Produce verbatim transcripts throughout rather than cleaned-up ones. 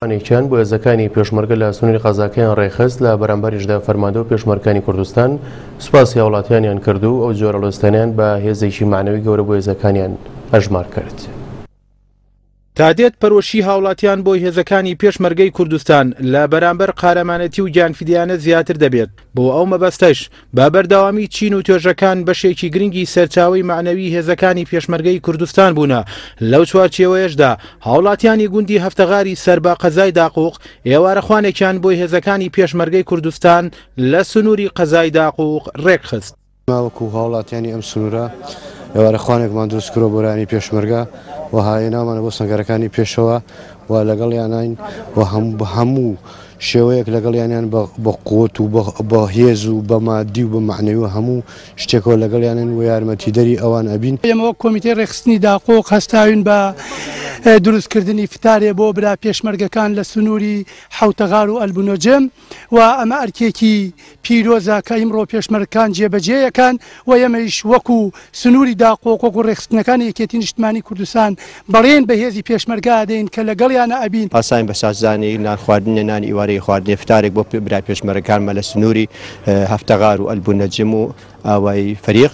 خوانێکیان بۆ هێزەکانی پێشمەرگە لە سنووری قەزاکەیان ڕێکخست. لە بەرامبەریشدا فەرماندە و پێشمەرگانی کوردستان سوپاسی هاوڵاتیانیان کرد و ئەو جۆرە هەڵوێستانیان بە هێزێکی مەعنەوی گەورە بۆ هێزەکانیان ئەژمار کرد. تا دێت پەرۆشی هاوڵاتیان بۆ هێزەکانی پێشمەرگەی کوردستان لە بەرامبەر قارەمانەتی و گیانفیدیانە زیاتر دەبێت. بۆ ئەو مەبەستەش بە بەردەوامی چین و توێژەکان بەشێکی گرنگی سەرچاوەی مەعنەوی هێزەکانی پێشمەرگەی کوردستان بوونە. لەو چوارچێوەیەشدا هاوڵاتیانی گوندی هەفتەغاری سەر بە قەزای داقوق ئێوارەخوانێکیان بۆ هێزەکانی پێشمەرگەی کوردستان لە سنووری قەزای داقوق ڕێکخست. وەکو هاوڵاتیانی ئەم سنوورە ئێوارەخوانێکمان دروست کردووە بۆ لایەنی پێشمەرگە و هاوێنامانە بۆ سەنگەرەکانی پێشەوە و لەگەڵیانین و هەموو شێوەیەک لەگەڵیانیان بە قوت و بە هێز و بە مادی و بە مەعنەوی و هەموو شتێکەوە لەگەڵیانن و یارمەتیدەری ئەوان ئەبین. ئێمە وەک کۆمیتەی ڕێکخستنی داقوق هەستاوین بە دروستکردنی فتارێ بۆ برا پێشمەرگەکان لە سنووری حەوتەغار و ئەلبونۆجم و ئەمە ئەرکێکی پیرۆزە کە ئیمڕۆ پێشمەرگەکان جێبەجێیەکان و ئێمەیش وەکو سنووری داقوق وەکو ڕێکخستنەکانی یەکێتی نیشتمانی کوردستان بەڵێن بە هێزی پێشمەرگە ئەدەین کە لەگەڵیانە ئەبین. پاساین بە سازدانی نان خواردنە نانی ئیوارەی خواردنی فتارێک بۆ برای پێشمەرگەکانمە لە سنووری هەفتەغار و ئەلبونەجم و ئاوای فەریق.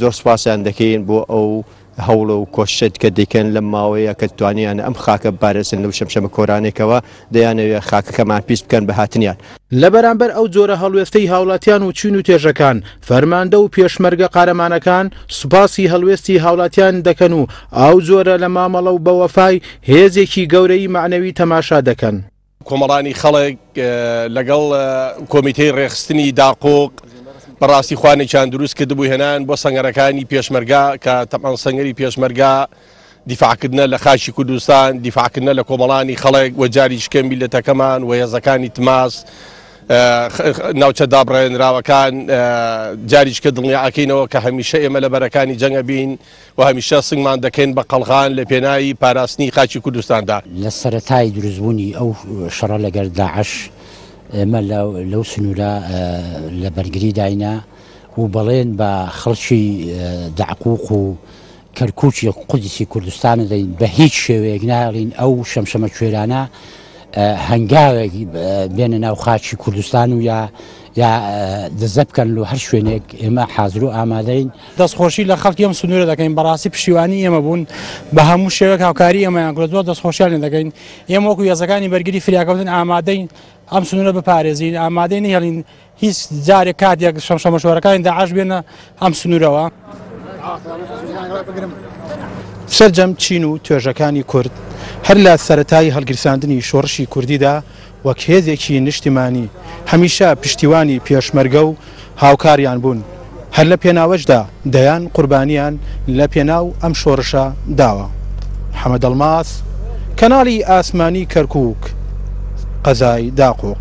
زۆر سوپاسیان دەکەین بۆ ئەو هەوڵ و کۆشت کە دەیکەن لەم ماوەیە کە توانیان ئەم خاکە بپارێزن لەو شەمشەمە کۆرانێکەوە دەیانەوێت خاکەکەمان پیس بکەن بە هاتنیان. لە بەرامبەر ئەو جۆرە هەڵوێستەی هاوڵاتیان و چین و توێژەکان فەرماندە و پێشمەرگە قارەمانەکان سوپاسی هەڵوێستی هاوڵاتیان دەکەن و ئەو جۆرە لە مامەڵە و بەوەفای هێزێکی گەورەی مەعنەوی تەماشا دەکەن. کۆمەڵانی خەڵک لەگەڵ کۆمیتەی ڕێکخستنی داقوق بەڕاستی خوانێکیان دروست کردبوو هێنان بۆ سەنگەرەکانی پێشمەرگا کە تەبعەن سەنگەری پێشمەرگا دیفاعکردنە لە خاکی کوردستان، دیفاعکردنە لە کۆمەڵانی خەڵک و جاریشکە میلەتەکەمان و هێزەکانی تماس ناوچە دابڕێنراوەکان جاریشکە دڵنیاکەینەوە کە هەمیشە ئێمە لە بەرەکانی جەنگە بین و هەمیشە سنگمان دەکەین بە قەڵغان لە پێناوی پاراستنی خاکی کوردستاندا. لە سەرەتای دروستبوونی ئەو شەڕە لەگەر داعش ئێمە لەو سنوورە لە بەرگری داینا و بەڵێن بە خەڵکی داقوق و کەرکووکی قودسی کوردستانە دەین بە هیچ شێوەیەک ناهێڵین ئەو شەمشەمە کوێرانە هەنگاوێک بێنە ناو خاکی کوردستان و یا یا دزە بکەن لە هەر شوێنێک ئێمە حاضر و ئامادەین. دەستخۆشی لە خەڵکی ئەم سنوورە دەکەین، بەڕاستی پشتیوانی ئێمە بوون بە هەموو شێوەیەک هاوکاری ئێمەیان کرد، زۆر دەستخۆشیان لێ دەکەین. ئێمە وەکو هێزەکانی بەرگری فریاکەوتن ئامادەین ئەم سنوورە بپارێزین، ئامادەی نەهێڵین هیچ جارێک کاتێک شەمشەمەشۆرەکانی داعش بێنە ئەم سنوورەوە. سەرجەم چین و توێژەکانی کورد هەر لە سەرەتای هەڵگیرساندنی شۆڕشی کوردیدا وەک هێزێکی نیشتیمانی هەمیشە پشتیوانی پێشمەرگە و هاوکاریان بوون، هەر لە پێناوەشدا دەیان قوربانیان لە پێناو ئەم شۆڕشە داوە. محەممەد ئەڵماس، کەناڵی ئاسمانی کەرکووک، قەزای داقوق.